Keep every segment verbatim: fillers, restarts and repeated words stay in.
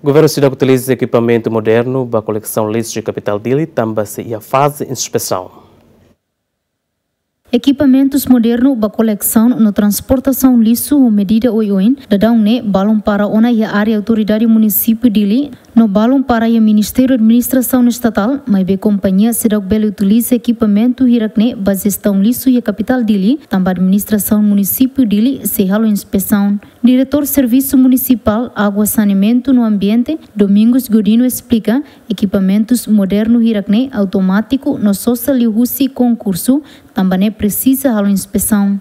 Governu seidauk utiliza ekipamentu modernu ba kolesaun lixu iha kapitál Dili, tanba sei iha faze inspesaun. Ekipamentus modernu ba kolesaun no transportasaun lixu ho medida oioin, daudaun ne'e balun para ona iha área Autoridade Munisípiu Dili, no balun para iha Ministériu Administrasaun Estatál, maibé kompañia seidauk bele utiliza ekipamentu hirak-ne'e ba jestaun lixu iha kapitál Dili, tanba administrasaun Munisípiu Dili sei halo inspesaun. Diretór Servisu Munisipál Água, Saneamentu no Ambiente, Domingos Godino esplika, ekipamentus modernu hirak-ne'e automátiku no sosa liuhusi konkursu, tanba ne'e presiza halo inspesaun.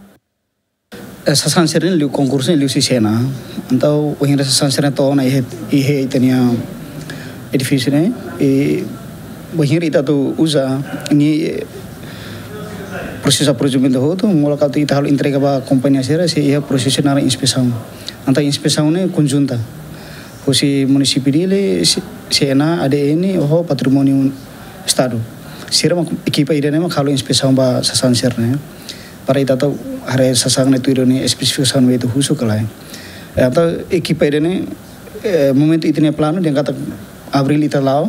Eh, sasán sira-ne'e liu konkursu ne'e liuhusi SENA. Entaun, wainhira sasán sira-ne'e to'o ona iha, iha ita-nia edifísiu ne'e, i wainhira ita atu uza, ne'e, eh, prosesu prosedumentu hotu, molok atu ita halo entrega ba kompañia sira, sei iha prosesu naran inspesaun. Entaun inspesaun ne'e konjunta. Husi Munisípiu Dili, SENA, ADN, ho Patrimóniu Estadu. Sira mak ekipa ida-ne'e mak halo inspesaun ba sasán sira-ne'e. Para ita atu haree sasán ne'e tuir nia espesifikasaun ne'ebé ita husu ka lae. Eh, entaun ekipa ida-ne'e, eh, momentu ita-nia planu dehan katak abríl ita la'o,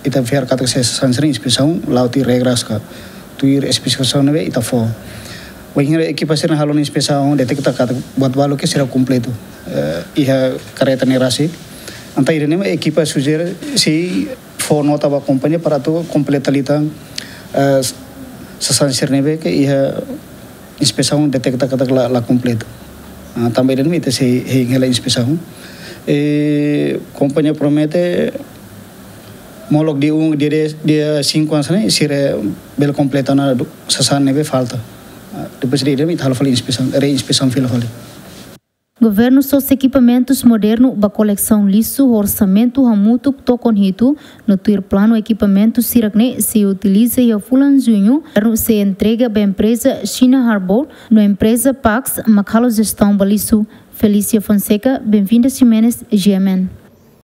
ita fiar katak sasán sira-ne'e inspesaun la'o tuir regras ka tuir espesifikasaun ne'ebé ita fó. Wainhira ekipa sira-ne'e halo nia inspesaun, deteta katak buat balu ne'e seidauk kompletu. Eh, iha karreta ne'e rasik. Entaun ida-ne'e mak ekipa sujere sei fó nota ba kompañia para atu kompleta liután, eh, sasán sira-ne'ebé ke iha inspesaun deteta katak la, la kompletu. Ah, tanba ida-ne'e mak ita sei hein hela inspesaun. Eh, kompañia promete molok dia um, dia dez, dia cinco anos ne'e, sira bele kompleta ona sasán ne'ebé falta. Ah, depois de ida-ne'e mak ita halo fali inspesaun, reinspesaun fila fali. Governu sosa ekipamentus modernu ba kolesaun lixu ho orsamentu hamutuk tokon hitu, no tuir planu ekipamentu hirak-ne'e sei utiliza iha fulan Juñu, governu sei entrega ba empreza China Harbour no empreza Pax mak halo jestaun ba lixu. Felícia Fonseca, Benvinda Ximenes, G M N.